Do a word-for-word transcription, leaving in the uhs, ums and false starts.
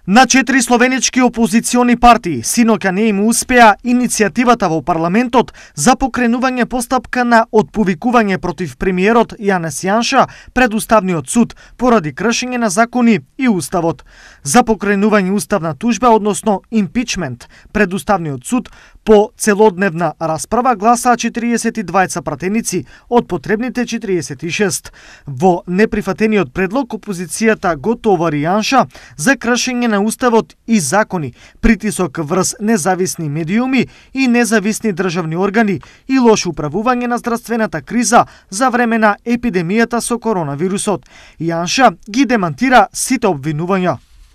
На четири словенички опозициони партии синоќа не им успеа иницијативата во парламентот за покренување постапка на отповикување против премиерот Јанес Јанша пред Уставниот суд поради кршење на закони и уставот. За покренување уставна тужба, односно импичмент, пред Уставниот суд по целодневна расправа гласаа четириесет и двајца пратеници од потребните четириесет и шест. Во неприфатениот предлог опозицијата го товари Јанша за кршење на уставот и закони, притисок врз независни медиуми и независни државни органи и лошо управување на здравствената криза за време на епидемијата со коронавирусот. Јанша ги демантира сите обвинувања.